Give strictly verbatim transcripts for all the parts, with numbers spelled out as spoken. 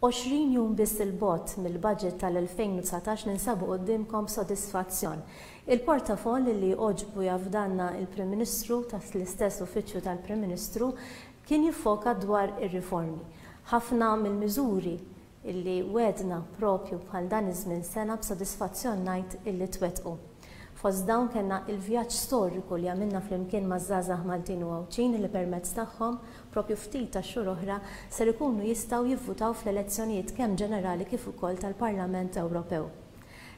għoxrin jum biss il-bogħod mill-budget tal-elfejn u dsatax ninsabu quddiemkom b'sodisfazzjon. Il-portafoll li għoġbu jafdanna il-Prim Ministru taħt l-istess uffiċċju tal-Prim Ministru kien jiffoka dwar ir-riformi. Ħafna mill-miżuri illi wedna propju bħal dan iż-żmien sena b'sodisfazzjon ngħid illi twettqu. Fost dawn kellna il-vjaġġ storiku li għamilna flimkien maż-żgħażagħ Maltin u Għawdxin li permezz tagħhom propju ftit ta' xhur oħra ser ikunu jistgħu jivvutaw fl-elezzjonijiet kemm ġenerali kif ukoll tal-Parlament Ewropew.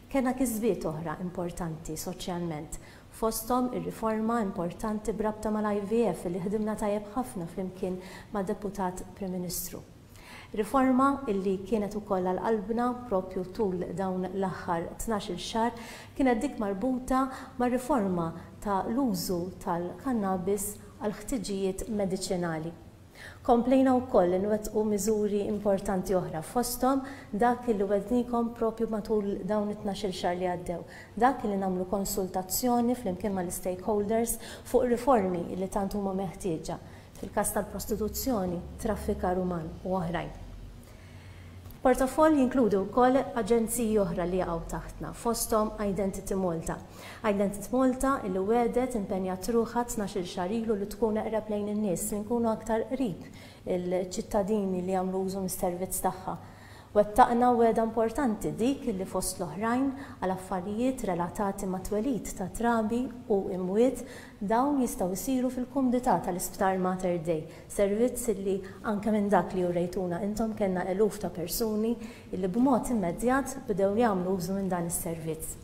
Kellna kisbiet oħra importanti soċjalment, fosthom ir-riforma importanti b'rabta mal-I V F li ħdimna tajjeb ħafna flimkien mad-Deputat Prim Ministru. Riforma illi kienet ukoll għal qalbna propju tul dawn l-aħħar tnax-il xahar kienet dik marbuta mar-riforma ta' l-użu tal-kannabis għal ħtiġijiet mediċinali. Komplejna wkoll nwettqu miżuri importanti oħra fosthom dak li wednikom propju matul dawn it-tnax-il xahar li għaddew, dak li nagħmlu konsultazzjoni flimkien mal-stakeholders fuq riformi li tant huma meħtieġa fil-każ tal-prostituzzjoni, traffikar uman u oħrajn. Portafoll jinkludi wkoll aġenziji oħra li jaqgħu taħtna, fosthom Identity Malta. Identity Malta illi wedet impenjat ruħha tnax-il xahar ilu li tkun eqreb lejn in-nies, li nkunu aktar qrib il-ċittadini li jagħmlu użu mis-servizz tagħha. Wettaqna wegħda importanti dik li fost l-oħrajn għal affarijiet relatati ma' twelid ta' trabi u imwiet dawn jistgħu jsiru fil-kumdità tal-Isptar Mater Dei, servizz li anke minn dak li urejtuna intom kellna eluf ta' persuni li b'mod immedjat bdew jagħmlu użu minn dan is-servizz.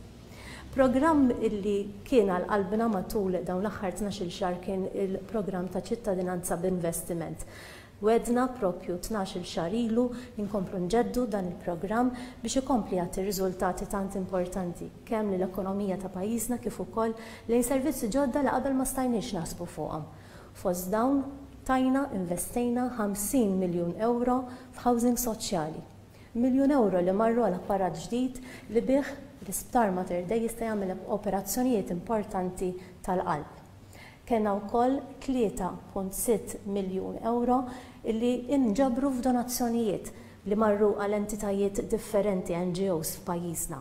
Programm illi kien għal qalbna matul dawn l-aħħar tnax-il xahar kien il-programm ta' ċittadinanza b'investiment. Wedna propju tnax-il xahar ilu inkomplu nġeddu dan il-programm biex ikompli jagħti riżultati tant importanti kemm lill-ekonomija ta' pajjiżna kif ukoll lejn servizzi ġodda li qabel ma stajniex naħsbu fuqhom. Fost dawn tajna investejna ħamsin miljun euro f'housing soċjali. Miljun euro li marru għal apparat ġdid li bih l-Isptar Mater Dei jista' jagħmel operazzjonijiet importanti tal-qalb. Kellna wkoll tlieta punt sitt miljun euro illi inġabru f'donazzjonijiet li marru għal entitajiet differenti N G Os f'pajjiżna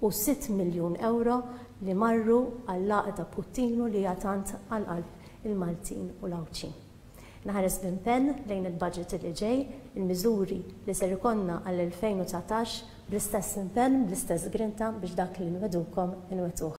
u sitt miljun euro li marru għall-għaqda Puttinu li hija tant għal qalb il-Maltin u l-Għawdxin. Naħares b'impenn lejn il-budget li ġej, il-miżuri li ser ikollna għall-elfejn u dsatax bl-istess impenn, bl-istess grinta biex dak li nwedukom inwetuh.